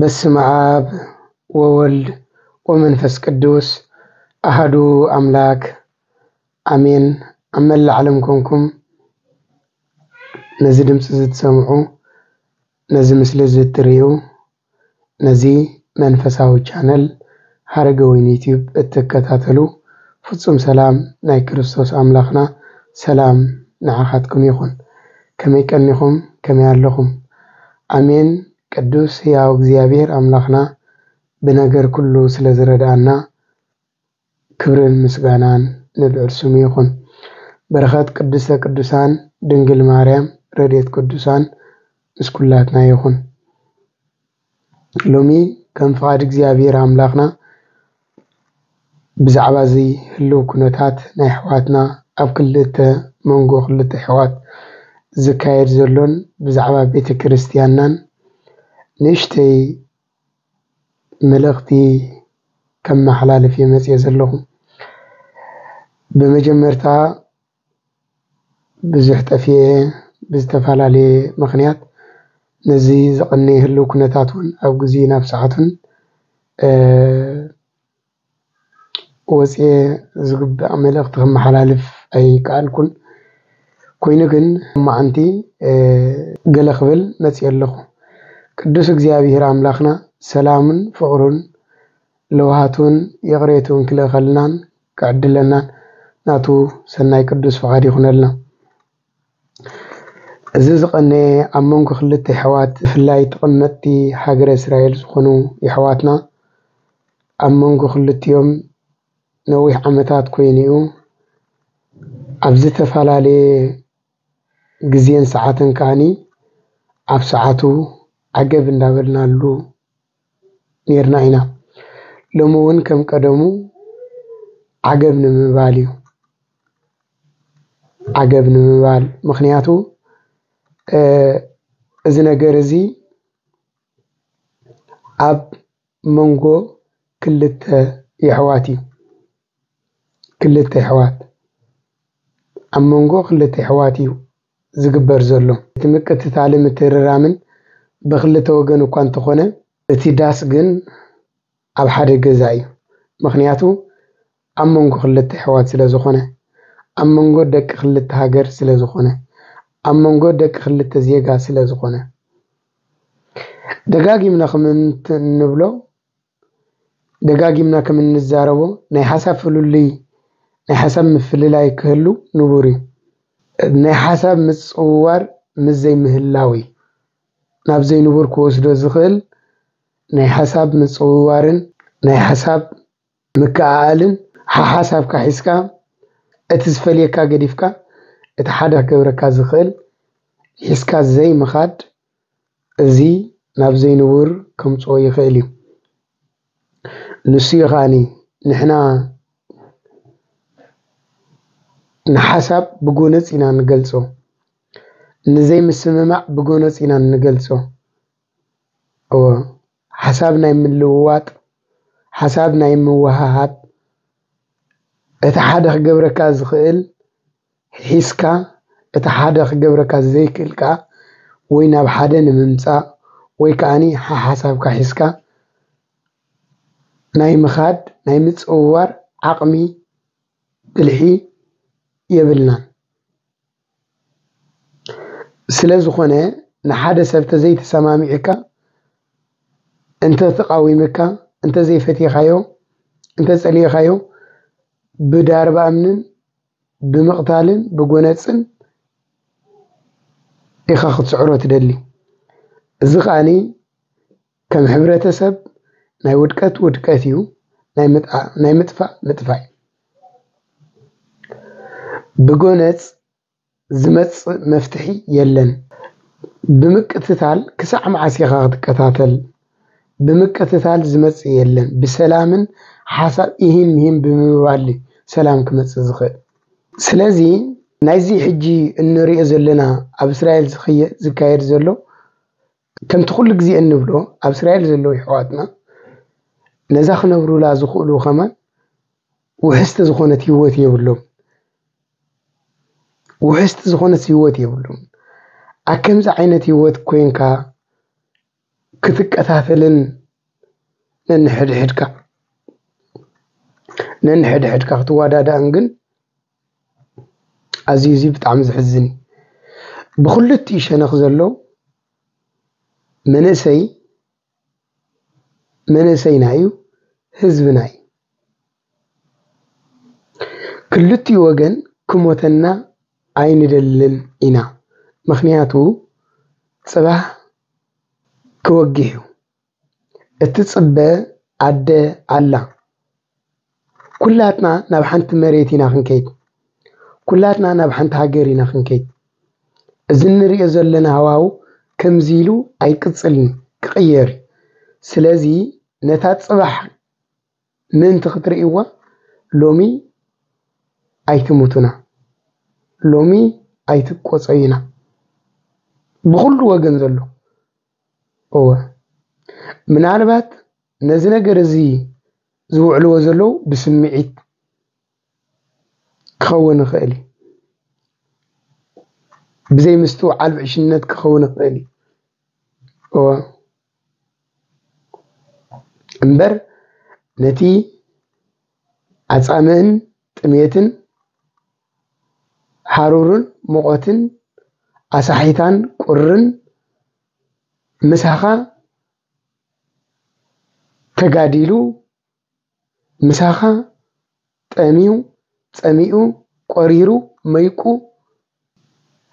በስመ አብ ወወልድ ወመንፈስ ቅዱስ አሐዱ አምላክ አሜን። ኣብ መላእ ዓለም ኮንኩም ነዚ ድምፂ እዚ ትሰምዑ፣ ነዚ ምስሊ እዚ እትርእዩ፣ ነዚ መንፈሳዊ ቻነል ሃረገወይኒ ዩቲዩብ እትከታተሉ፣ ፍጹም ሰላም ናይ ክርስቶስ ኣምላኽና ሰላም ንዓኻትኩም ይኹን። ከመይ ቀኒኹም? ከመይ ኣለኹም? ኣሜን። ቅዱስ ህያው እግዚኣብሔር ኣምላኽና ብነገር ኩሉ ስለ ዝረድኣና ክብርን ምስጋናን ንልዑል ስሙ ይኹን። በረኸት ቅድስተ ቅዱሳን ድንግል ማርያም፣ ረድኤት ቅዱሳን ምስ ኩላትና ይኹን። ሎሚ ከም ፍቓድ እግዚኣብሔር ኣምላኽና ብዛዕባ እዚ ህልው ኩነታት ናይ ኣሕዋትና ኣብ ክልተ መንጎ ክልተ ኣሕዋት ዝካየድ ዘሎን ብዛዕባ ቤተ ክርስቲያንናን ንእሽተይ መልእኽቲ ከመሓላልፍ እየ መፅየ ዘለኹ። ብመጀመርታ ብዙሕ ጠፊኤ ብዝተፈላለየ ምኽንያት ነዚ ዝቐነየ ህልው ኩነታት እውን ኣብ ግዜ ናብ ሰዓቱን፣ እ፣ ወፅየ ዝግባእ መልእኽቲ ከመሓላልፍ ኣይከኣልኩን። ኮይኑ ግን መዓንቲ፣ እ፣ ገለ ክብል መፅየ ኣለኹ። ቅዱስ እግዚኣብሔር ኣምላኽና ሰላምን ፍቕሩን ለውሃቱን ይቕሬቱን ክልእኸልናን ክዕድለናን ናቱ ሰናይ ቅዱስ ፍቓድ ይኹነልና። እዚ ዝቐነየ ኣብ መንጎ ክልተ ኣሕዋት ብፍላይ ተቐመጥቲ ሃገረ እስራኤል ዝኾኑ ኣሕዋትና ኣብ መንጎ ክልቲኦም ነዊሕ ዓመታት ኮይኑ እዩ። ኣብ ዝተፈላለየ ግዜን ሰዓትን ከኣኒ ኣብ ሰዓቱ ዓገብ እንዳበልናሉ ኔርና ኢና። ሎሚ እውን ከም ቀደሙ ዓገብ ንምባል እዩ። ዓገብ ንምባል ምኽንያቱ፣ እ፣ እዚ ነገር እዚ ኣብ መንጎ ክልተ የሕዋት እዩ። ክልተ የሕዋት፣ ኣብ መንጎ ክልተ የሕዋት እዩ ዝግበር ዘሎ። እቲ ምቅትታልን ምትርራምን ብክልተ ወገን እኳ እንተኾነ፣ እቲ ዳስ ግን ኣብ ሓደ ገዛ እዩ። ምኽንያቱ ኣብ መንጎ ክልተ ኣሕዋት ስለ ዝኾነ፣ ኣብ መንጎ ደቂ ክልተ ሃገር ስለ ዝኾነ፣ ኣብ መንጎ ደቂ ክልተ ዜጋ ስለ ዝኾነ፣ ደጋጊምና ከም እንት-፣ እንብሎ፣ ደጋጊምና ከም እንዛረቦ፣ ናይ ሓሳብ ፍልልይ፣ ናይ ሓሳብ ምፍልላይ ክህሉ ንቡር እዩ። ናይ ሓሳብ ምጽውዋር ምስ ዘይምህላው እዩ ናብ ዘይንቡር ክወስዶ ዝኽእል። ናይ ሓሳብ ምጽውዋርን ናይ ሓሳብ ምክእኣልን ሓሓሳብካ ሒዝካ፣ እቲ ዝፈልየካ ገዲፍካ፣ እቲ ሓደ ክገብረካ ዝኽእል ሒዝካ ዘይምኻድ፣ እዚ ናብ ዘይንቡር ከምጽኦ ይኽእል እዩ። ንሱ እዩ ከኣኒ ንሕና ንሓሳብ ብጎነጽ ኢና ንገልጾ፣ ንዘይምስምማዕ ብጎነጽ ኢና ንገልጾ። እወ፣ ሓሳብ ናይ ምልውዋጥ፣ ሓሳብ ናይ ምውሃሃድ፣ እቲ ሓደ ክገብረካ ዝኽእል ሒዝካ፣ እቲ ሓደ ክገብረካ ዘይክእል ከኣ ወይ ናብ ሓደ ንምምጻእ ወይ ከኣኒ ሓሓሳብካ ሒዝካ ናይ ምኻድ፣ ናይ ምጽውዋር ዓቕሚ፣ ብልሒ የብልናን። ስለ ዝኾነ ንሓደ ሰብ ተዘይተሰማሚዕካ፣ እንተ ተቃዊምካ፣ እንተ ዘይፈቲኻዮ፣ እንተ ጸሊእኻዮ፣ ብዳርባ እምንን ብምቕታልን ብጎነጽን ኢኻ ክትስዕሮ ትደሊ። እዚ ከኣኒ ከም ሕብረተሰብ ናይ ውድቀት ውድቀት እዩ፣ ናይ ምጥኣ-፣ ናይ ምጥፋእ ምጥፋእ እዩ። ብጎነጽ ዝመጽእ መፍትሒ የለን። ብምቅትታል ክሳዕ መዓስ ኢኻ ክትከታተል? ብምቅትታል ዝመጽእ የለን። ብሰላምን ሓሳብ ኢሂን ምሂን ብምባል እዩ ሰላም ክመጽእ ዝኽእል። ስለዚ ናይዚ ሕጂ እንሪኦ ዘለና ኣብ እስራኤል ዝኽየ-፣ ዝካየድ ዘሎ ከምቲ ኩሉ ግዜ እንብሎ፣ ኣብ እስራኤል ዘለዉ ኣሕዋትና ነዛ ክነብሩላ ዝኽእሉ ከማን ውሕስቲ ዝኾነት ህይወት የብሎም። ውሕስቲ ዝኾነት ህይወት የብሎም። ኣብ ከምዚ ዓይነት ህይወት ኮይንካ ክትቀታተልን ነንሕድሕድካ ነንሕድሕድካ ክትዋዳዳእን ግን ኣዝዩ እዚ ብጣዕሚ ዘሕዝን እዩ። ብክልቲኡ ሸነኽ ዘሎ መንእሰይ መንእሰይና እዩ፣ ህዝብና እዩ። ክልቲኡ ወገን ክሞተና ኣይንደልን ኢና። ምኽንያቱ ጽባሕ ክወግሕ እዩ። እትጽበ ኣደ ኣላ። ኩላትና ናብ ሓንቲ መሬት ኢና ክንከይድ። ኩላትና ናብ ሓንቲ ሃገር ኢና ክንከይድ። እዚ እንሪኦ ዘለና ሃዋው ከምዚ ኢሉ ኣይቅጽልን፣ ክቕየር እዩ። ስለዚ ነታ ጽባሕ ምእንቲ ክትርእይዋ ሎሚ ኣይትሙቱና፣ ሎሚ ኣይትቆጸዩና። ብኹሉ ወገን ዘሎ እወ፣ ምናልባት ነዚ ነገር እዚ ዝውዕልዎ ዘለዉ ብስምዒት ክኸውን ይኽእል እዩ። ብዘይ ምስትውዓል ብዕሽነት ክኸውን ይኽእል እዩ። እወ። እምበር ነቲ ኣጻምእን ጥሜትን ሃሩርን ሙቐትን ኣሳሒታን ቁርን ምሳኻ ተጋዲሉ፣ ምሳኻ ጠምዩ፣ ጸሚኡ፣ ቆሪሩ፣ መይቁ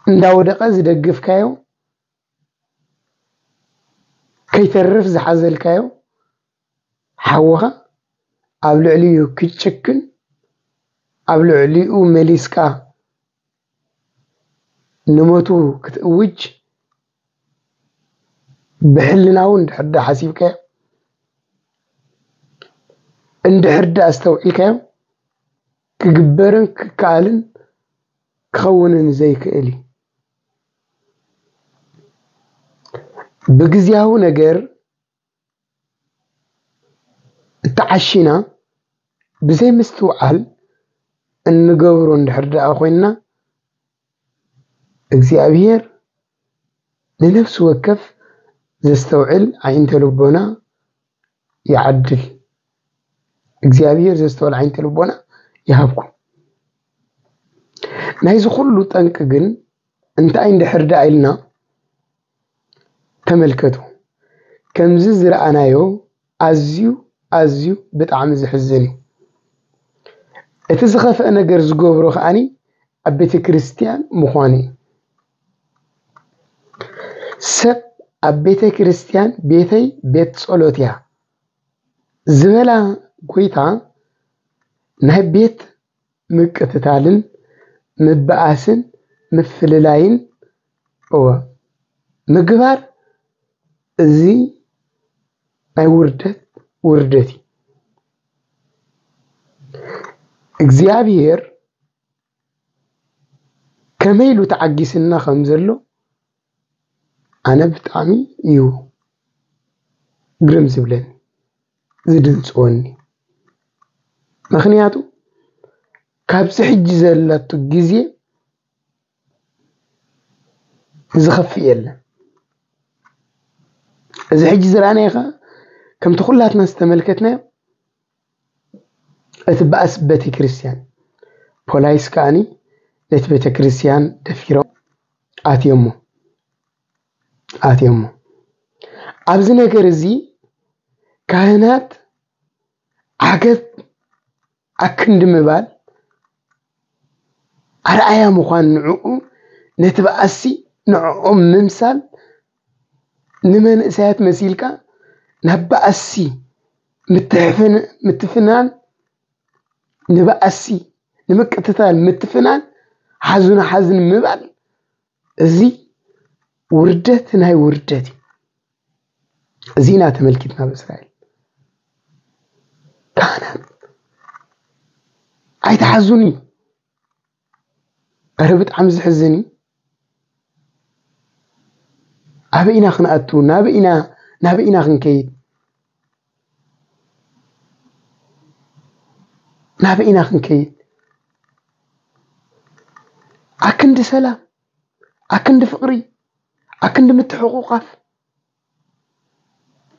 እንዳወደቐ ዝደግፍካዮ፣ ከይተርፍ ዝሓዘልካዮ ሓውኻ ኣብ ልዕሊኡ ክትጭክን፣ ኣብ ልዕሊኡ መሊስካ ንሞቱ ክትእውጅ ብሕልናዊ እንድሕር ዳ ሓሲብካዮ፣ እንድሕር ዳ ኣስተውዒልካዮ፣ ክግበርን ክከኣልን ክኸውንን ዘይክእል እዩ። ብግዝያዊ ነገር እተዓሺና ብዘይ ምስትውዓል እንገብሮ እንድሕር ደኣ ኮይንና፣ እግዚኣብሔር ንነፍሲ ወከፍ ዘስተውዕል ኣዒንተ ልቦና ይዓድል። እግዚኣብሔር ዘስተውዕል ኣዒንተ ልቦና ይሃብኩም። ናይዚ ኩሉ ጠንቂ ግን እንታይ እንድሕር ደኣ ኢልና ተመልከቱ። ከምዚ ዝረኣናዮ ኣዝዩ ኣዝዩ ብጣዕሚ ዘሕዝን እዩ። እቲ ዝኸፍአ ነገር ዝገብሮ ከኣኒ ኣብ ቤተ ክርስቲያን ምዃኑ እዩ። ሰብ ኣብ ቤተ ክርስቲያን ቤተይ ቤት ጸሎት እያ ዝበላ ጎይታ ናይ ቤት ምቅትታልን ምብኣስን ምፍልላይን እወ ምግባር እዚ ናይ ውርደት ውርደት እዩ። እግዚኣብሔር ከመይ ኢሉ ተዓጊስና ከም ዘሎ ኣነ ብጣዕሚ እዩ ግርም ዝብለኒ ዝድንፅወኒ። ምኽንያቱ ካብዚ ሕጂ ዘለቱ ግዜ ዝኸፍእ የለን። እዚ ሕጂ ዝረኣናዮ ኸ ከምቲ ኩላትና ዝተመልከትናዮ እቲ በኣስ ቤተክርስትያን ፖላይስ ከኣኒ ነቲ ቤተክርስትያን ደፊሮም ኣትዮሞ ኣትዮሞ። ኣብዚ ነገር እዚ ካህናት ዓገብ ኣክንዲ ምባል ኣርኣያ ምዃን ንዕኡ ነቲ በኣሲ ንዕኦም ምምሳል ንመንእሰያት መሲልካ ናብ በኣሲ ምትሕፍን ምትፍናን ንበኣሲ ንምቅትታል ምትፍናን ሓዙን ሓዝን ምባል እዚ ውርደት ናይ ውርደት እዩ። እዚ ኢና ተመልኪትና ኣብ እስራኤል ካህናት ኣይተሓዙን እዩ። ኧረ ብጣዕሚ ዝሕዝን እዩ። ኣበይ ኢና ክንኣቱ? ናበይ ኢና ናበይ ኢና ክንከይድ? ናበይ ኢና ክንከይድ? ኣክንዲ ሰላም፣ ኣክንዲ ፍቕሪ፣ ኣክንዲ ምትሕቑቓፍ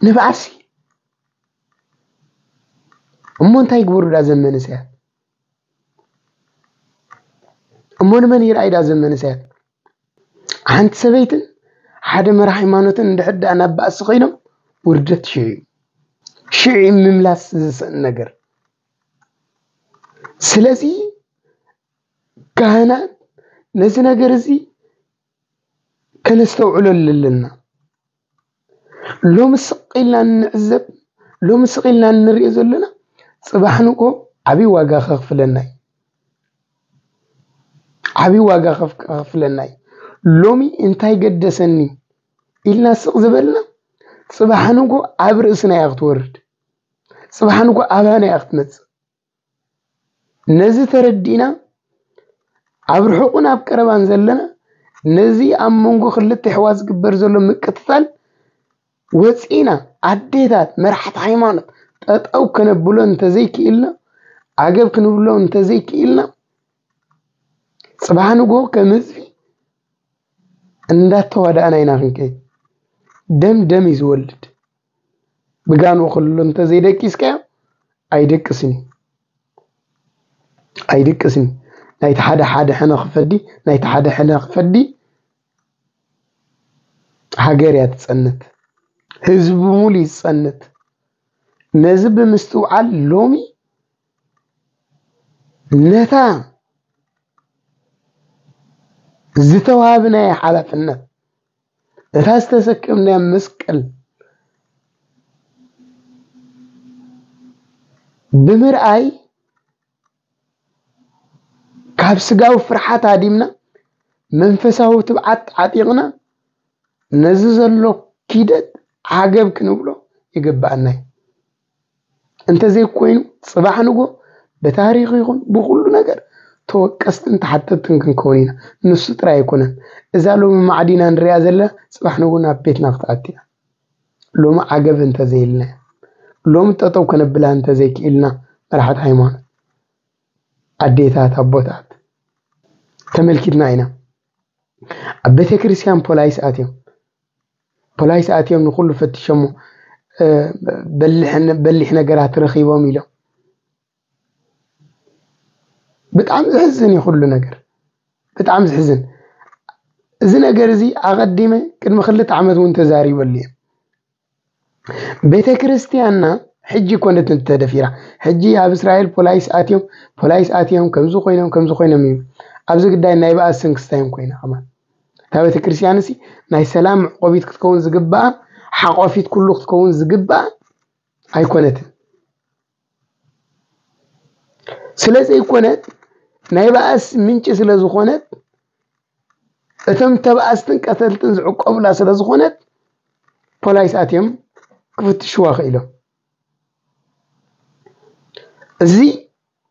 ንብኣሲ። እሞ እንታይ ይግበሩ ዳ ዘን መንእሰያት? እሞ ንመን ይርኣይ ዳ ዘን መንእሰያት? ሓንቲ ሰበይትን ሓደ መራሒ ሃይማኖትን እንድሕር ደኣ ናብ ባእሲ ኮይኖም፣ ውርደት ሽዑ እዩ። ሽዑ እዩ ምምላስ ዝስእን ነገር። ስለዚ ካህናት ነዚ ነገር እዚ ከነስተውዕለሉ ኣለና። ሎሚ ስቕ ኢልና እንዕዘብ፣ ሎሚ ስቕ ኢልና እንሪኦ ዘለና፣ ጽባሕ ንግሆ ዓብዪ ዋጋ ከኽፍለና እዩ። ዓብዪ ዋጋ ከፍ-፣ ከኽፍለና እዩ። ሎሚ እንታይ ገደሰኒ ኢልና ስቕ ዝበልና፣ ጽባሕ ንግሆ ኣብ ርእስና እያ ክትወርድ። ጽባሕ ንግሆ ኣባና እያ ክትመጽእ። ነዚ ተረዲእና፣ ኣብ ርሑቕን ኣብ ቀረባን ዘለና፣ ነዚ ኣብ መንጎ ክልተ ኣሕዋት ዝግበር ዘሎ ምቅትታል ወፂና፣ ኣዴታት፣ መራሕቲ ሃይማኖት፣ ጠጠው ከነብሎ እንተዘይክኢልና፣ ዓገብ ክንብሎ እንተዘይክኢልና፣ ጽባሕ ንግሆ ከም ህዝቢ እንዳተዋዳእና ኢና ክንከይድ። ደም ደም እዩ ዝወልድ። ብጋንኡ ክልሉ እንተዘይደቂስካዮ ኣይደቅስን እዩ። ኣይደቅስን እዩ። ናይቲ ሓደ ሓደ ሕነ ክፈዲ፣ ናይቲ ሓደ ሕነ ክፈዲ ሃገር እያ ትጸንት። ህዝቢ ሙሉ ይጸንት። ነዚ ብምስትውዓል ሎሚ ነታ ዝተዋህብናያ ሓላፍነት፣ እታ ዝተሰከምናያ መስቀል ብምርኣይ፣ ካብ ስጋዊ ፍርሓት ሃዲምና፣ መንፈሳዊ ትብዓት ዓጢቕና፣ ነዚ ዘሎ ኪደት ዓገብ ክንብሎ ይግብኣና እዩ። እንተዘይኮይኑ፣ ጽባሕ ንግሆ ብታሪኽ ይኹን ብኹሉ ነገር ተወቀስትን ተሓተትትን ክንከውን ኢና። ንሱ ጥራይ ኣይኮነን። እዛ ሎሚ ማዕዲና ንሪኣ ዘለና፣ ጽባሕ ንግሆ ናብ ቤትና ክትኣቲ እያ። ሎሚ ዓገብ እንተዘይልና፣ ሎሚ ጠጠው ከነብላ እንተዘይክኢልና፣ መራሕቲ ሃይማኖት፣ ኣዴታት፣ ኣቦታት፣ ተመልኪትና ኢና። ኣብ ቤተ ክርስቲያን ፖላይስ ኣትዮም፣ ፖላይስ ኣትዮም ንኹሉ ፈትሸሞ፣ እ፣ በሊሕ፣ በሊሕ ነገራት ረኺቦም ኢሎም። ብጣዕሚ ዘሕዝን እዩ ኩሉ ነገር፣ ብጣዕሚ ዘሕዝን። እዚ ነገር እዚ ኣቐዲመ ቅድሚ ክልተ ዓመት እውን ተዛሪበሉ እየ። ቤተ ክርስቲያንና ሕጂ ኮነት እንተደፊራ፣ ሕጂ ኣብ እስራኤል ፖላይስ ኣትዮም፣ ፖላይስ ኣትዮም፣ ከምዚ ኮይኖም፣ ከምዚ ኮይኖም እዩ። ኣብዚ ግዳይ ናይ በኣስ ስንክስታዮም ኮይና ከማን። እታ ቤተ ክርስቲያን እሲ ናይ ሰላም መዕቆቢት ክትከውን ዝግባኣ፣ ሓቆፊት ኩሉ ክትከውን ዝግባኣ ኣይኮነትን። ስለ ዘይኮነት፣ ናይ በኣስ ምንጪ ስለ ዝኾነት፣ እቶም ተባኣስትን ቀተልትን ዝዕቆቡላ ስለ ዝኾነት፣ ፖላይስ ኣትዮም ክፍትሽዋ ክኢሎም። እዚ፣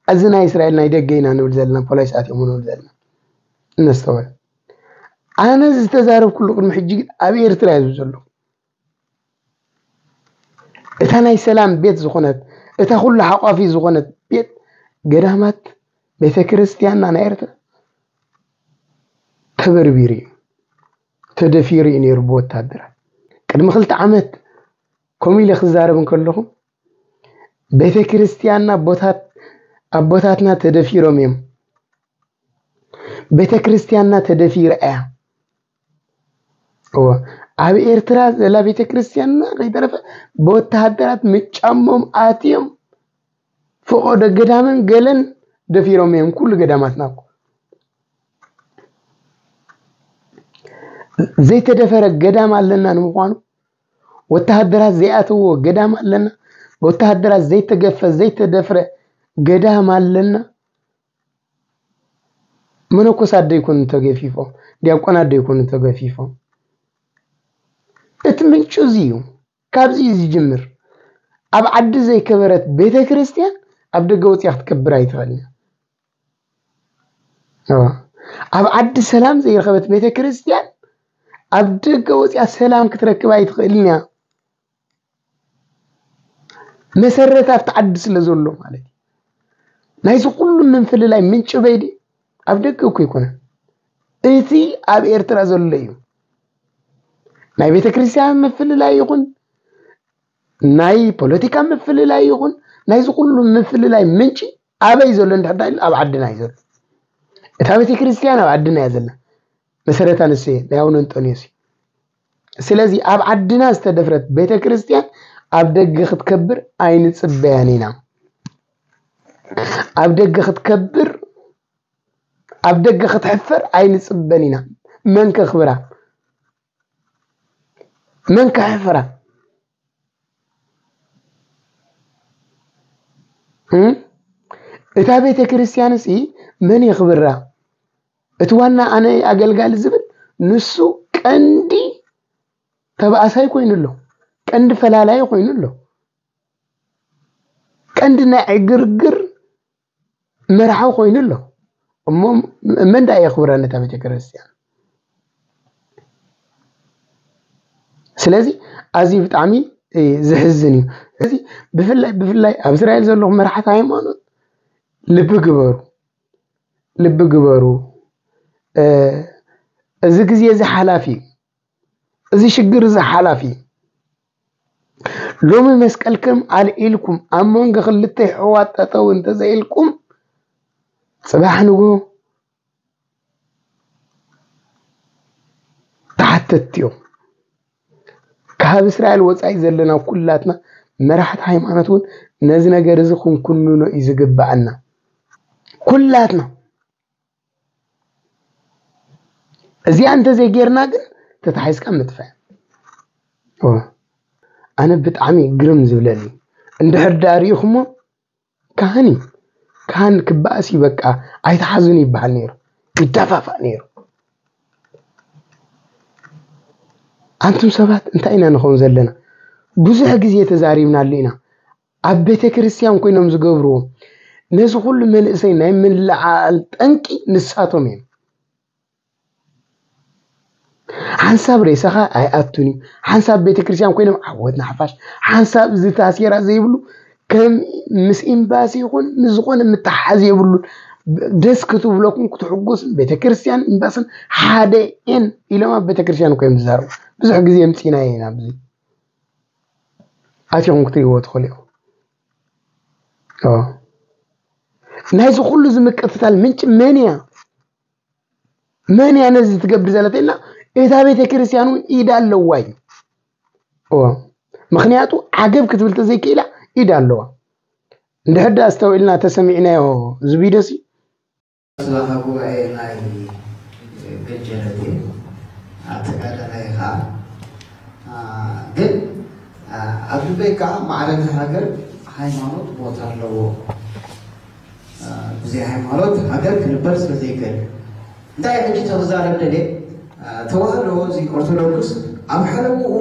እዚ ናይ እስራኤል ናይ ደገ ኢና ንብል ዘለና፣ ፖላይስ ኣትዮም ንብል ዘለና። እነስተውዕል። ኣነ ዝተዛረብኩሉ ቅድሚ ሕጂ ግን ኣብ ኤርትራ እየ ዝብል ዘለኹ። እታ ናይ ሰላም ቤት ዝኾነት፣ እታ ኩሉ ሓቋፊ ዝኾነት ቤት፣ ገዳማት፣ ቤተ ክርስቲያንና ናይ ኤርትራ ተበርቢሩ እዩ፣ ተደፊሩ እዩ ነይሩ ብወታደራት። ቅድሚ ክልተ ዓመት ከምኡ ኢለ ክዛረብ እንከለኹ፣ ቤተ ክርስቲያንና ኣቦታት-፣ ኣቦታትና ተደፊሮም እዮም። ቤተ ክርስቲያንና ተደፊራ እያ። እወ፣ ኣብ ኤርትራ ዘላ ቤተ ክርስቲያንና ከይተረፈ ብወተሃደራት ምጫሞም ኣትዮም፣ ፈቐዶ ገዳምን ገለን ደፊሮም እዮም። ኩሉ ገዳማትና እኮ ዘይተደፈረ ገዳም ኣለና ንምዃኑ፣ ወተሃደራት ዘይኣተዎ ገዳም ኣለና፣ ወተሃደራት ዘይተገፈ ዘይተደፍረ ገዳም ኣለና። መነኮሳት ዶ ይኮኑ ተገፊፎም? ዲያቆናት ዶ ይኮኑ ተገፊፎም? እቲ ምንጩ እዚ እዩ። ካብዚ እዩ ዝጅምር። ኣብ ዓዲ ዘይከበረት ቤተ ክርስቲያን ኣብ ደገ ወፂኣ ክትከብር ኣይትኽእልን እያ። እዋ። ኣብ ዓዲ ሰላም ዘይረኸበት ቤተ ክርስቲያን ኣብ ደገ ወፂኣ ሰላም ክትረክብ ኣይትኽእልን እያ። መሰረት ኣብቲ ዓዲ ስለ ዘሎ ማለት እዩ። ናይዚ ኩሉ ምፍልላይ ምንጪ በይዲ ኣብ ደገ እኮ ይኮነ፣ እቲ ኣብ ኤርትራ ዘሎ እዩ። ናይ ቤተ ክርስቲያን ምፍልላይ ይኹን፣ ናይ ፖለቲካ ምፍልላይ ይኹን፣ ናይዚ ኩሉ ምፍልላይ ምንጪ ኣበይ ዘሎ እንድሕር ኢሉ ኣብ ዓድና እዩ ዘሎ። እታ ቤተ ክርስቲያን ኣብ ዓድና እያ ዘላ። መሰረታ ንሱ እየ፣ ናይ ኣቡነ እንጦንዮስ እዩ። ስለዚ ኣብ ዓድና ዝተደፍረት ቤተ ክርስቲያን ኣብ ደገ ክትከብር ኣይንጽበያን ኢና። ኣብ ደገ ክትከብር፣ ኣብ ደገ ክትሕፈር ኣይንጽበን ኢና። መን ከኽብራ? መን ከሕፍራ? እም? እታ ቤተ ክርስቲያን ሲ መን የኽብራ? እቲ ዋና ኣነ ኣገልጋሊ ዝብል ንሱ ቀንዲ ተባእሳይ ኮይኑ ኣሎ፣ ቀንዲ ፈላላይ ኮይኑ ኣሎ፣ ቀንዲ ናይ ዕግርግር መርሓዊ ኮይኑ ኣሎ። እሞ መን ደኣ የኽብራ ነታ ቤተ ክርስቲያን? ስለዚ ኣዝዩ ብጣዕሚ፣ እ፣ ዘሕዝን እዩ። ስለዚ ብፍላይ፣ ብፍላይ ኣብ እስራኤል ዘለኹም መራሕቲ ሃይማኖት ልቢ ግበሩ፣ ልቢ ግበሩ። እ፣ እዚ ግዜ እዚ ሓላፊ እዩ። እዚ ሽግር እዚ ሓላፊ እዩ። ሎሚ መስቀልኩም ኣልዒልኩም ኣብ መንጎ ክልተ ኣሕዋት ጠጠው እንተዘይልኩም፣ ጽባሕ ንግሆ ተሓተትቲ እዮም። ካብ እስራኤል ወጻኢ ዘለና ኩላትና መራሕቲ ሃይማኖት እውን ነዚ ነገር እዚ ክንኩንኖ እዩ ዝግብኣና። ኩላትና እዚኣ እንተዘይጌርና ግን ተታሒዝካ ምጥፋእ። ኦ፣ ኣነ ብጣዕሚ ግርም ዝብለኒ እንድሕር ደኣ ርኢኹሞ፣ ካህን እዩ። ካህን ክበኣስ እዩ፣ በቃ ኣይትሓዙን ይበሃል ነይሩ፣ ይደፋፋእ ነይሩ። ኣንቱም ሰባት እንታይ ኢና ንኸውን ዘለና? ብዙሕ ግዜ ተዛሪብናሉ ኢና። ኣብ ቤተ ክርስቲያን ኮይኖም ዝገብርዎ ነዚ ኩሉ መንእሰይ ናይ ምልዓል ጠንቂ ንሳቶም እዮም። ሓንሳብ ሬሳኻ ኣይኣቱን እዩ። ሓንሳብ ቤተ ክርስቲያን ኮይኖም ዓወት ንሓፋሽ፣ ሓንሳብ እዚ ታሴራ ዘይብሉ ከም ምስ ኤምባሲ ይኹን ምስ ዝኾነ ምትሓዝ የብሉን። ደስ ክትብለኩም ክትሕጎስን ቤተ ክርስቲያን ኤምባስን ሓደ እየን ኢሎም ኣብ ቤተ ክርስቲያን እኮ እዮም ዝዛረቡ። ብዙሕ ግዜ የምፂና ኢና ኣብዚ ኣቲኹም ክትሪእዎ ትኽእሉ ኢኹም። ኦ። ናይዚ ኩሉ እዚ ምቅትታል ምንጪ መን እያ? መን እያ ነዚ ትገብር ዘላ ተኢልና፣ እታ ቤተ ክርስቲያን እውን ኢድ ኣለዋ እዩ። ኦ። ምኽንያቱ ዓገብ ክትብል ተዘይክኢላ ኢድ ኣለዋ። እንድሕር ደኣ ኣስተውዒልና ተሰሚዕናዮ እዚ ቪድዮ ሲ፣ ስራሓ ጉባኤ ናይ ገጀረት እየ፣ ኣተጋዳላይ ኸዓ። አ፣ ግን፣ አ፣ ኣብ ልበይ ከዓ ማዕረ እቲ ሃገር ሃይማኖት ቦታ ኣለዎ። አ፣ ብዘይ ሃይማኖት ሃገር ክንበር ስለ ዘይክእል። እንታይ ሕጂ ተዛረብ ደልየ፣ አ፣ ተዋህዶ እዚ ኦርቶዶክስ ኣብ ሓለውኡ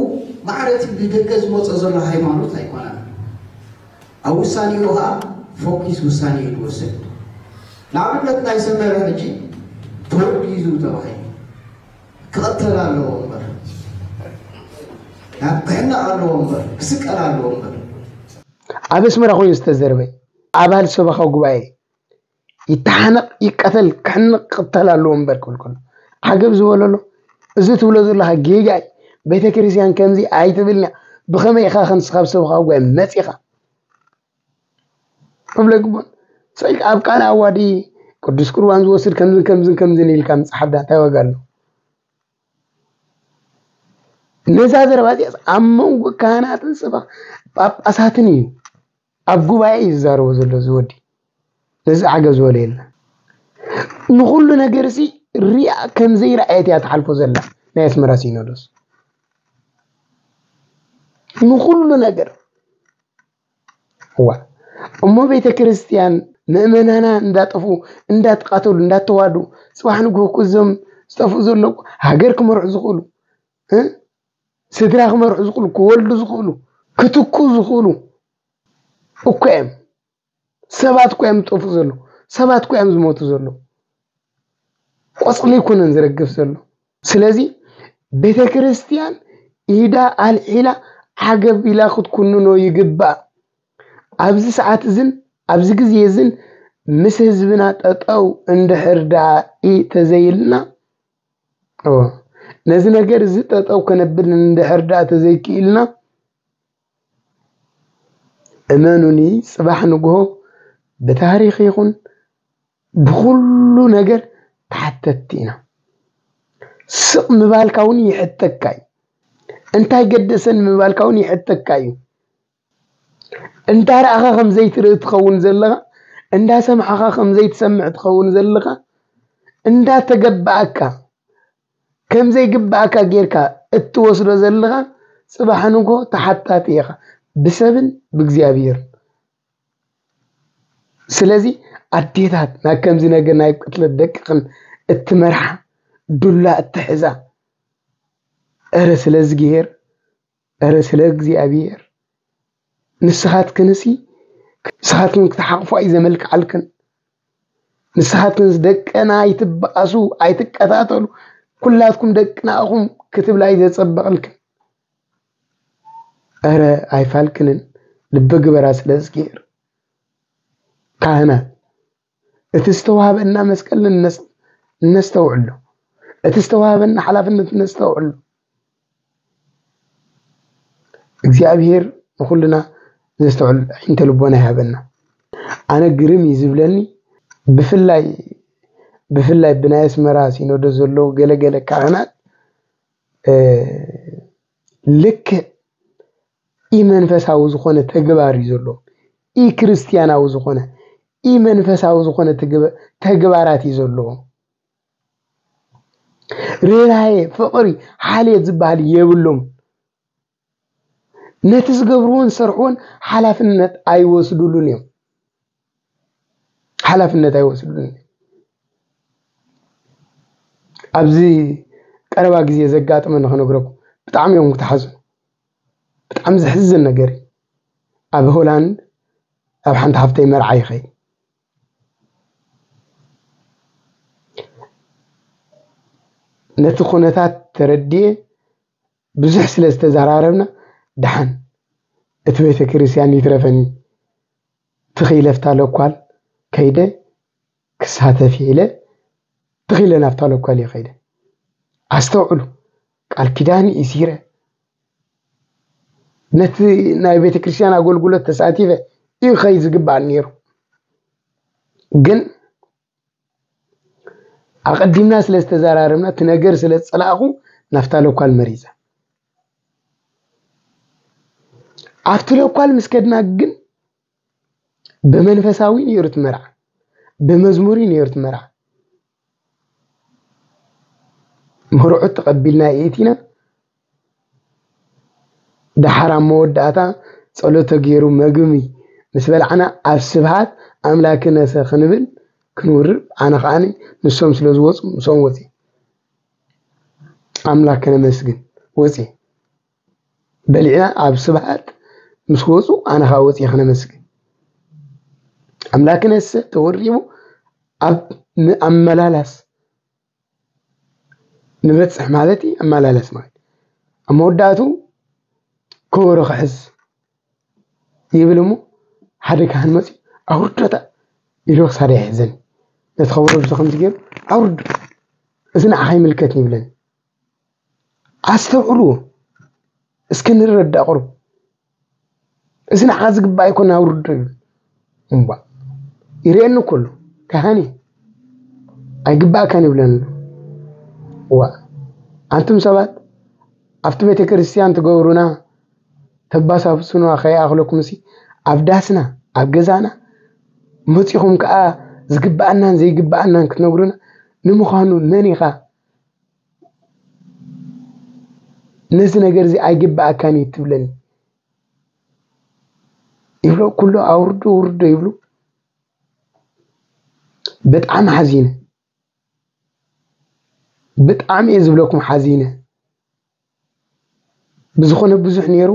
ማዕረ እቲ ብደገ ዝመጾ ዘሎ ሃይማኖት ኣይኮነን። ኣብ ውሳኔኡ ኸዓ ፎኪስ ውሳኔ እዩ ዝወስድ። ንኣብነት ናይ ሰመረ ሕጂ ተወጊዙ ተባሂሉ ክቐተል ኣለዎ እምበር፣ ናብ ክሕነቕ ኣለዎ እምበር፣ ክስቀል ኣለዎ እምበር። ኣብ ኣስመራ ኮይኑ ዝተዘርበ ኣባል ሰበኻ ጉባኤ ይተሓነቕ፣ ይቀተል፣ ክሕነቕ፣ ክቕተል ኣለዎ እምበር ክብል ከሎ ዓገብ ዝበለሎ፣ እዚ ትብሎ ዘለኻ ጌጋ እዩ። ቤተ ክርስቲያን ከምዚ ኣይትብልን እያ። ብኸመይ ኢኻ ክንስኻ ኣብ ሰበኻ ጉባኤ መጺኻ? ክብሎ ይግባእ። ስቕ ኢልካ ኣብ ቃል ኣዋዲ ቅዱስ ቁርባን ዝወስድ ከምዝን ከምዝን ከምዝን ኢልካ ምጽሓፍ ዳ እንታይ ዋጋ ኣለዎ? ነዛ ዘረባ እዚኣስ ኣብ መንጎ ካህናትን ሰበኽ ጳጳሳትን እዩ፣ ኣብ ጉባኤ እዩ ዝዛረቦ ዘሎ እዚ ወዲ። ነዚ ዓገብ ዝበሎ የለን። ንኹሉ ነገር እዚ ሪኣ ከም ዘይረኣየት እያ ትሓልፎ ዘላ ናይ ኣስመራ ሲኖዶስ። ንኹሉ ነገር። እዋ፣ እሞ ቤተ ክርስቲያን ምእመናና እንዳጠፉ፣ እንዳተቃተሉ፣ እንዳተዋዱ፣ ጽባሕ ንግሆ እኮ እዞም ዝጠፍኡ ዘለዉ ሃገር ክመርሑ ዝኽእሉ፣ እ? ስድራ ክመርሑ ዝኽእሉ፣ ክወልዱ ዝኽእሉ፣ ክትኩ ዝኽእሉ እኮ እዮም። ሰባት እኮ እዮም ዝጠፍኡ ዘለዉ። ሰባት እኮ እዮም ዝሞቱ ዘለዉ። ቆጽሊ ኣይኮነን ዝረግፍ ዘሎ። ስለዚ ቤተ ክርስቲያን ኢዳ ኣልዒላ ዓገብ ኢላ ክትኩንኖ ይግባእ። ኣብዚ ሰዓት እዝን ኣብዚ ግዜ እዝን ምስ ህዝብና ጠጠው እንድሕር ደኣ ተዘይልና፣ ነዚ ነገር እዚ ጠጠው ከነብል እንድሕር ደኣ ተዘይክኢልና፣ እመኑኒ፣ ጽባሕ ንግሆ ብታሪኽ ይኹን ብኹሉ ነገር ተሓተትቲ ኢና። ስቕ ምባልካ እውን ይሕተካ እዩ። እንታይ ገደሰን ምባልካ እውን ይሕተካ እዩ። እንዳ ረኣኻ ከም ዘይትርኢ ትኸውን ዘለኻ፣ እንዳ ሰማዕኻ ከም ዘይትሰምዕ ትኸውን ዘለኻ፣ እንዳ ተገባኣካ ከም ዘይግባኣካ ጌርካ እትወስዶ ዘለኻ፣ ጽባሕ ንግሆ ተሓታቲ ኢኻ፣ ብሰብን ብእግዚኣብሔርን። ስለዚ ኣዴታት፣ ናብ ከምዚ ነገር ናይ ቅትለት ደቅኽን እትመርሓ፣ ዱላ እትሕዛ፣ እረ ስለ እግዚኣብሔር፣ እረ ስለ እግዚኣብሔር፣ ንስኻትክንሲ፣ ንስኻትክን ክትሓቕፋ እዩ ዘመልክዓልክን። ንስኻትክንስ ደቅና ኣይትበኣሱ፣ ኣይትቀታተሉ፣ ኩላትኩም ደቅና ኢኹም ክትብላ እዩ ዘጸበቕልክን። እረ ኣይፋልክንን፣ ልቢ ግበራ ስለ እግዚኣብሔር። ካህናት፣ እቲ ዝተዋህበና መስቀል ንነስ-፣ ነስተውዕሎ። እቲ ዝተዋህበና ሓላፍነት ነስተውዕሎ። እግዚኣብሔር ንኹልና ዘስተውዕል ዓይንተ ልቦና ይሃበና። ኣነ ግርም እዩ ዝብለኒ፣ ብፍላይ፣ ብፍላይ ብናይ ኣስመራ ሲኖዶስ ዘለዉ ገለገለ ካህናት፣ እ፣ ልክዕ ኢመንፈሳዊ ዝኾነ ተግባር እዩ ዘለዎም። ኢክርስቲያናዊ ዝኾነ፣ ኢመንፈሳዊ ዝኾነ ተግባ-፣ ተግባራት እዩ ዘለዎም። ርህራሄ፣ ፍቕሪ፣ ሓልዮት ዝበሃል የብሎም። ነቲ ዝገብርዎን ዝሰርሕዎን ሓላፍነት ኣይወስዱሉን እዮም። ሓላፍነት ኣይወስዱሉን እዮም። ኣብዚ ቀረባ ግዜ ዘጋጠመኒ ክነግረኩም፣ ብጣዕሚ እዮም ክትሓዝኑ። ብጣዕሚ ዘሕዝን ነገር እዩ። ኣብ ሆላንድ ኣብ ሓንቲ ሓፍተይ መርዓ ይኸይድ። ነቲ ኩነታት ተረድየ፣ ብዙሕ ስለ ዝተዘራረብና፣ ደሓን እቲ ቤተ ክርስቲያን ይትረፈኒ፣ ትኺለ ኣብታ ለኳል ከይደ ክሳተፍ ኢለ፣ ትኺለ ናብታ ለኳል እየ ከይደ። ኣስተውዕሉ፣ ቃል ኪዳን እሲረ፣ ነቲ ናይ ቤተ ክርስቲያን ኣገልግሎት ተሳቲፈ እዩ ከይ ዝግባእ ነይሩ። ግን ኣቐዲምና ስለ ዝተዘራረብና፣ እቲ ነገር ስለ ዝጸላእኹ፣ ናብታ ለኳል መሪጸ። ኣብቲ ለኳል ምስ ከድና ግን ብመንፈሳዊ ነይሩ እቲ መርዓ፣ ብመዝሙር ነይሩ እቲ መርዓ። መርዑት ተቐቢልና የእቲና። ደሓር ኣብ መወዳእታ ጸሎት ተገይሩ መግቢ ምስ በላዕና፣ ኣብ ስብሃት ኣምላክነሰ ክንብል ክንውርድ፣ ኣነ ከዓኒ ንሶም ስለ ዝወጹ ምስኦም ወጺ። ኣምላክ ከነመስግን ወጺ። በሊዕና ኣብ ስብሃት ምስ ወጹ፣ ኣነ ከኣ ወጺ ከነመስግን። ኣምላክነሰ ተወሪቡ ኣብ ን-፣ ኣመላላስ ንበጽሕ ማለት እዩ። ኣመላላስ ማለት ኣብ መወዳእቱ ከበሮ ክሕዝ ይብል እሞ፣ ሓደ ካህን መጺኡ፣ "ኣውርዶታ" ኢሉ ክሳደ ይሕዘኒ። ነቲ ከበሮ ብዚ ከምዚ ገይሩ፣ "ኣውርዶ፣ እዚ ንዓኻ ይምልከት" ይብለኒ። ኣስተውዕልዎ፣ እስኪ ንረዳእ ቁሩብ። "እዚ ንዓኻ ዝግባእ ኣይኮነ፣ ኣውርዶ" ይብል። እምባ ይርእየኒ እኮ ኣሎ፣ ካህን እዩ፣ "ኣይግባእካን" ይብለኒ ኣሎ። እዋ፣ ኣንቱም ሰባት ኣብቲ ቤተ ክርስቲያን ትገብሩና፣ ተባሳብሱና ከይኣኽለኩምሲ፣ ኣብ ዳስና፣ ኣብ ገዛና መጺኹም ከኣ ዝግባኣናን ዘይግባኣናን ክትነግሩና፣ ንምዃኑ መን ኢኻ ነዚ ነገር እዚ ኣይግባኣካን እዩ ትብለኒ? ይብሎ፣ ኩሉ ኣውርዶ ውርዶ ይብሉ። ብጣዕሚ ሓዚነ። ብጣዕሚ እየ ዝብለኩም ሓዚነ። ብዝኾነ ብዙሕ ነይሩ፣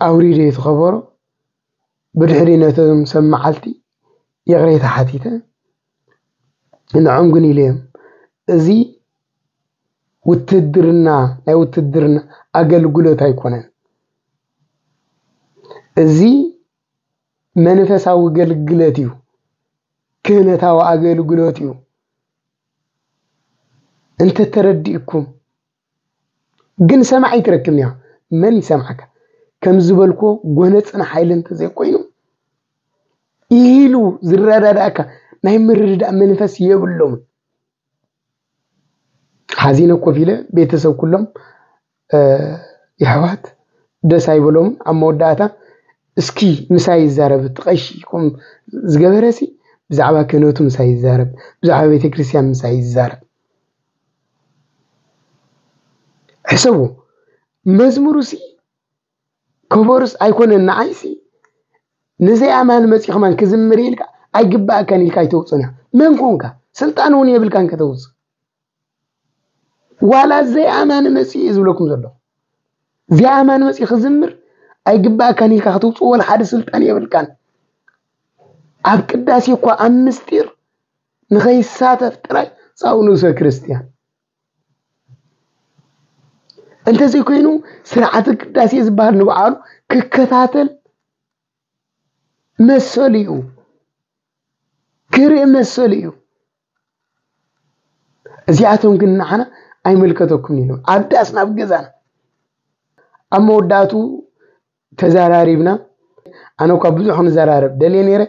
ኣውሪደ እቲ ከበሮ። ብድሕሪ ነቶም ሰብ መዓልቲ ይቕሬታ ሓቲተ። ንዖም ግን ኢለዮም፣ እዚ ውትድርና፣ ናይ ውትድርና ኣገልግሎት ኣይኮነን። እዚ መንፈሳዊ ኣገልግሎት እዩ። ክህነታዊ ኣገልግሎት እዩ። እንተተረዲእኩም ግን ሰማዒ ኣይትረክብን እያ። መን ይሰምዓካ? ከም ዝበልኮ ጎነፅን ሓይሊ እንተዘይኮይኑ ኢሉ ዝረዳዳእካ ናይ ምርድዳእ መንፈስ የብሎምን። ሓዚነ ኮፍ ኢለ ቤተሰብ ኩሎም የሕዋት ደስ ኣይበሎምን። ኣብ መወዳእታ እስኪ ምሳይ ይዛረብ፣ እቲ ቀሺ ከም ዝገበረሲ ብዛዕባ ክህነቱ ምሳይ ይዛረብ፣ ብዛዕባ ቤተክርስትያን ምሳይ ይዛረብ። ሕሰቡ፣ መዝሙሩሲ ከበሮስ ኣይኮነን ንዓይሲ ንዘይኣማኒ መፂኡ ከማን ክዝምር ኢልካ ኣይግባእካን ኢልካ ኣይተውፅእን ኢኻ። መን ኮንካ? ስልጣን እውን የብልካን ከተውፅእ። ዋላ ዘይኣማኒ መፂኡ እየ ዝብለኩም ዘለኹ። ዘይኣማኒ መፂኡ ክዝምር ኣይግባእካን ኢልካ ክትውፅእ ወላ ሓደ ስልጣን የብልካን። ኣብ ቅዳሴ እኳ ኣብ ምስጢር ንኸይሳተፍ ጥራይ ጻው ንእሰ ክርስትያን። እንተዘይኮይኑ ስርዓተ ቅዳሴ ዝበሃል ንባዕሉ ክከታተል መሰሉ እዩ፣ ክርኢ መሰሉ እዩ። እዚኣቶም ግን ንዓና ኣይምልከተኩም ኢሎም ኣብ ዳስና ኣብ ገዛና ኣብ መወዳእቱ ተዘራሪብና። ኣነ እኳ ብዙሕ ክንዘራረብ ደልየ ነይረ፣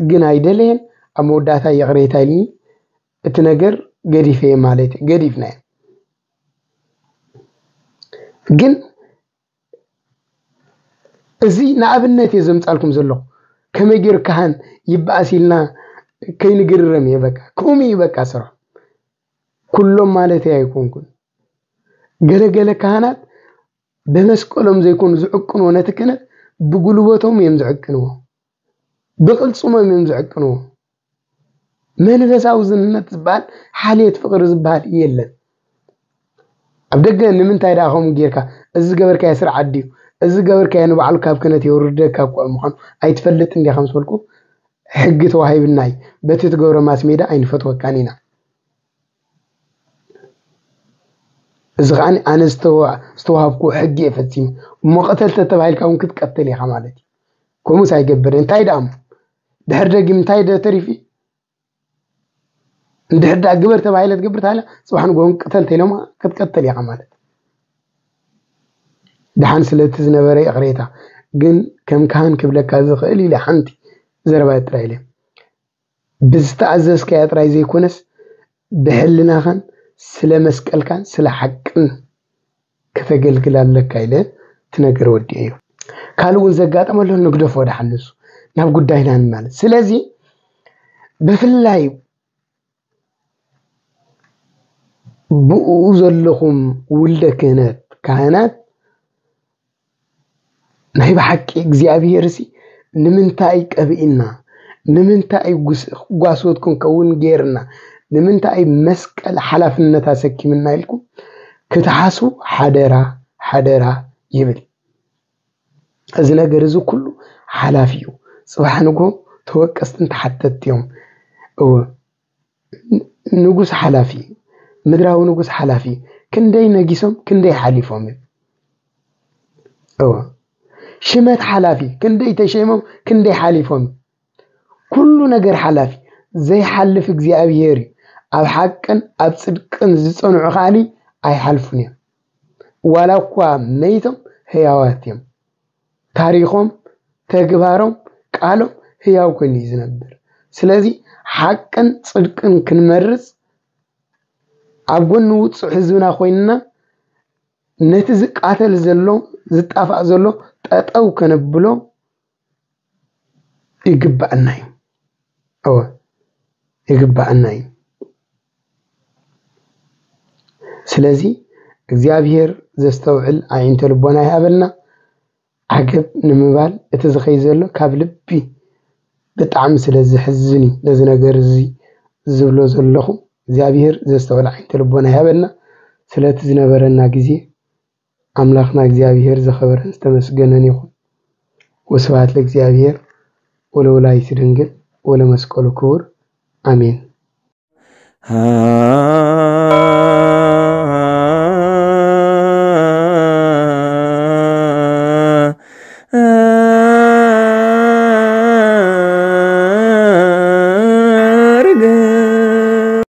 ግን ኣይደለየን። ኣብ መወዳእታ ይቕሬታ ኢልኒ። እቲ ነገር ገዲፈ ማለት እዩ፣ ገዲፍናዮ። ግን እዚ ንኣብነት እየ ዘምጻልኩም ዘለኹ። ከመይ ገይሩ ካህን ይበኣስ ኢልና ከይንግርረም እየ። በቃ ከምኡ እዩ በቃ ስርሖም። ኩሎም ማለት ኣይኮንኩን። ገለገለ ካህናት ብመስቀሎም ዘይኮኑ ዝዕቅንዎ ነቲ ክህነት ብጉልበቶም እዮም ዝዕቅንዎ፣ ብቕልጽሞም እዮም ዝዕቅንዎ። መንፈሳዊ ዝንነት ዝበሃል ሓልዮት ፍቕሪ ዝበሃል የለን። ኣብ ደገ ንምንታይ ደኣ ከምኡ ጌርካ፣ እዚ ዝገበርካዮ ስርዓት ድዩ፣ እዚ ዝገበርካዮ ንባዕሉ ካብ ክህነት የውርደካ እኳ ምዃኑ ኣይትፈልጥን ዲኻ ምስ በልኩ፣ ሕጊ ተዋሂብና እዩ፣ በቲ ትገብሮ ማስሜዳ ኣይንፈትወካን ኢና። እዚ ከኣ ኣነ ዝተዋ- ዝተዋሃብኩዎ ሕጊ እየ ፈጺመ እሞ ቅተል ተተባሂልካ እውን ክትቀተል ኢኻ ማለት እዩ። ከምኡስ ኣይገብርን። እንታይ ደኣ እሞ ድሕር ደጊም እንታይ ደ ተሪፊ? እንድሕር ደኣ ግበር ተባሂለ ትገብር ታለ ጽባሕ ንግሆ ቅተል ተኢሎማ ክትቀተል ኢኻ ማለት። ደሓን ስለቲ ዝነበረ ይቕሬታ ግን ከም ካህን ክብለካ ዝኽእል ኢለ ሓንቲ ዘረባ ጥራይ ኢለ ብዝተኣዘዝካዮ ጥራይ ዘይኮነስ ብሕልናኻን ስለ መስቀልካን ስለ ሓቅን ከተገልግል ኣለካ ኢለ እቲ ነገር ወዲኤዮ። ካልእ እውን ዘጋጠመ ኣሎ ንግደፎ ደሓን ንሱ ናብ ጉዳይና ንማለት። ስለዚ ብፍላይ ብኡ ዘለኹም ውልደ ክህነት ካህናት ናይ ብሓቂ እግዚኣብሄርሲ ንምንታይ ቀብእና? ንምንታይ ጓሶት ክንከውን ገይርና? ንምንታይ መስቀል ሓላፍነት ኣሰኪምና ኢልኩም ክትሓስቡ ሓደራ ሓደራ ይብል። እዚ ነገር እዚ ኩሉ ሓላፊ እዩ። ጽባሕ ንግሆ ተወቀስትን ተሓተትቲ እዮም። እወ ንጉስ ሓላፊ፣ ምድራዊ ንጉስ ሓላፊ፣ ክንደይ ነጊሶም ክንደይ ሓሊፎም እዮም። እወ ሽመት ሓላፊ፣ ክንደይ ተሸይሞም ክንደይ ሓሊፎም። ኩሉ ነገር ሓላፊ፣ ዘይሓልፍ እግዚኣብሄር እዩ። ኣብ ሓቅን ኣብ ጽድቅን ዝጸንዑ ከኣኒ ኣይሓልፉን እዮም። ዋላ እኳ መይቶም ህያዋት እዮም። ታሪኾም፣ ተግባሮም፣ ቃሎም ህያው ኮይኑ እዩ ዝነብር። ስለዚ ሓቅን ጽድቅን ክንመርጽ ኣብ ጎኒ ውጹዕ ህዝብና ኮይንና ነቲ ዝቃተል ዘሎ ዝጣፋእ ዘሎ ጠጠው ከነብሎ ይግባኣና እዩ። እወ ይግባኣና እዩ። ስለዚ እግዚኣብሔር ዘስተውዕል ኣዒንተ ልቦና ይሃበልና። ዓገብ ንምባል እቲ ዝኸይ ዘሎ ካብ ልቢ ብጣዕሚ ስለ ዝሕዝን እዩ ነዚ ነገር እዚ ዝብሎ ዘለኹ። እግዚኣብሔር ዘስተውዕል ዓይንተ ልቦና ይሃበልና። ስለቲ ዝነበረና ግዜ ኣምላኽና እግዚኣብሔር ዝኸበረን ዝተመስገነን ይኹን። ወስብሐት ለእግዚኣብሔር ወለወላዲቱ ድንግል ወለመስቀሉ ክቡር ኣሜን። ሃ